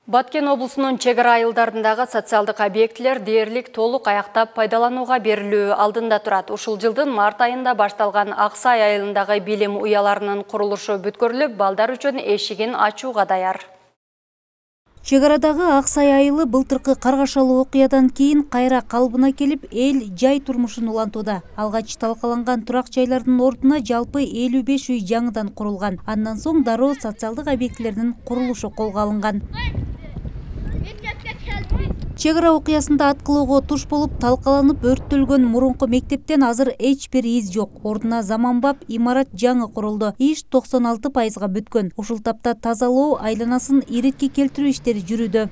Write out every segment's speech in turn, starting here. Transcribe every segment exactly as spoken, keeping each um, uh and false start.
Баткен облусунун чек ара айылдарындагы социалдык объектилер дээрлик толук аяктап пайдаланууга берилүү алдында турат. Ушул жылдын март айында башталган Аксай айылындагы билим уяларынын курулушу бүткөрүлүп, балдар үчүн эшигин ачууга даяр. Чек арадагы Аксай айылы былтыркы каргашалуу окуядан кийин кайра калыбына келип, эл жай турмушун улантууда. Алгач талкаланган турак жайлардын ордуна жалпы элүү беш үй жаңыдан курулган. Андан соң дароо социалдык объектилердин курулушу колго алынган. Чек ара окуясында аткылоого туш болуп талкаланып өрттөлгөн мурунку мектептен азыр эч бир из жок. Ордуна заманбап имарат жаңы курулду. Иш токсон алты пайызга бүткөн. Ушул тапта тазалоо, айланасын иретке келтирүү иштери жүрүүдө.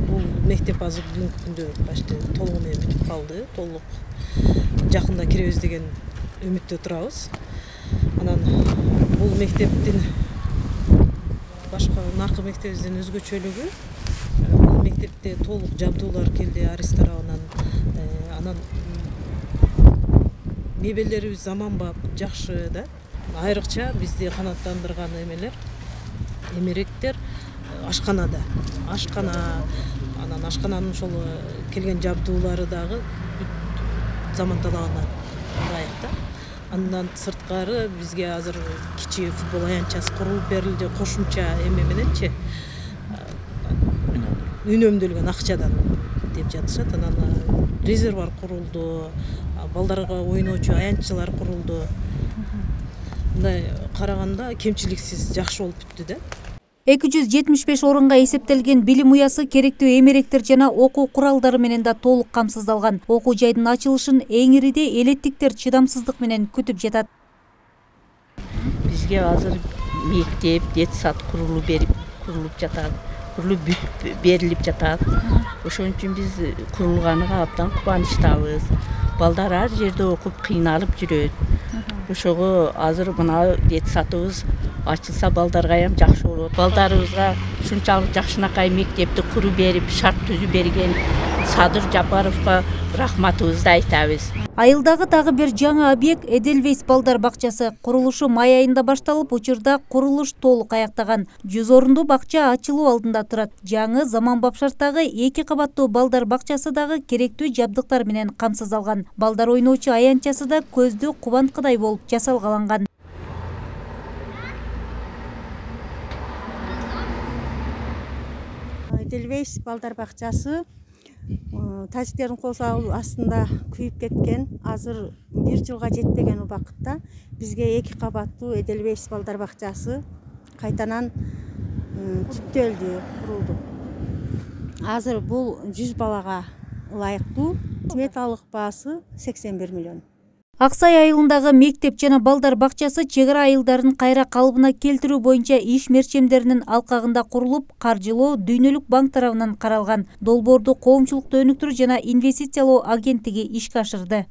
Бул мектеп азыр бүгүнкү күндө башты толугу менен бүтүп калды. Толук жакында киребиз деген үмүттө турабыз. Анан бул мектептин башка наркы мектебибизден өзгөчөлүгү бул мектепте толук жабдуулар келди арыз тарабынан. Анан мебелдерибиз заманбап, жакшы да. Айрыкча бизди канааттандырган эмелер, эмеректер ашканада. Ашкана, анан ашкананын ошол келген жабдуулары дагы заманталагына ылайык да. Андан сырткары бизге азыр кичи футбол аянтчасы курулуп берилди, кошумча эме мененчи үнөмдөлгөн акчадан деп жатышат. Анан резервуар курулду, балдарга ойноочу аянтчылар курулду. Мындай караганда кемчиликсиз жакшы болуп бүттү да. эки жүз жетимиш беш орунга эсептелген билим уясы керектүү эмеректер жана окуу куралдары менен да толук камсыздалган. Окуу жайдын ачылышын эңириде элеттиктер чыдамсыздык менен күтүп жатат. Бизге азыр мектеп, детсад курулуп берип, курулуп жатат. Курулуп берилип жатат. Ошон үчүн биз курулганыга абдан кубанычтабыз. Балдар ар жерде окуп кыйналып жүрөт. Ошого азыр мына детсадыбыз ачылса балдаргайам жакшы болот. Балдарыбызга ушунчалык жакшынакай мектепти куруп берип, шарт түзүп берген Садыр Жапаровго рахматыбызды айтабыз. Айылдагы дагы бир жаңы объект Эдельвейс балдар бакчасы. Курулушу май айында башталып, учурда курулуш толук аяктаган. жүз орундуу бакча ачылуу алдында турат. Жаңы заманбап шарттагы эки кабаттуу балдар бакчасы дагы керектүү жабдыктар менен камсыздалган. Балдар ойноочу аянтчасы да көздү кубанткыдай болуп жасалгаланган. Эдельвейс балдар бакчасы тажиктердин кол астында күйүп кеткен, азыр бир жылга жетпеген убакытта бизге эки кабаттуу Эдельвейс балдар бакчасы кайтанан түптөлдү, курулду. Азыр бул жүз балага ылайыктуу. Сметалык баасы сексен бир миллион. Аксай айылындагы мектеп жана балдар бакчасы чек ара айылдарын кайра калыбына келтирүү боюнча иш мерчемдеринин алкагында курулуп, каржылоо Дүйнөлүк банк тарабынан каралган. Долбоорду коомчулукту өнүктүрүү жана инвестициялоо агенттиги ишке ашырды.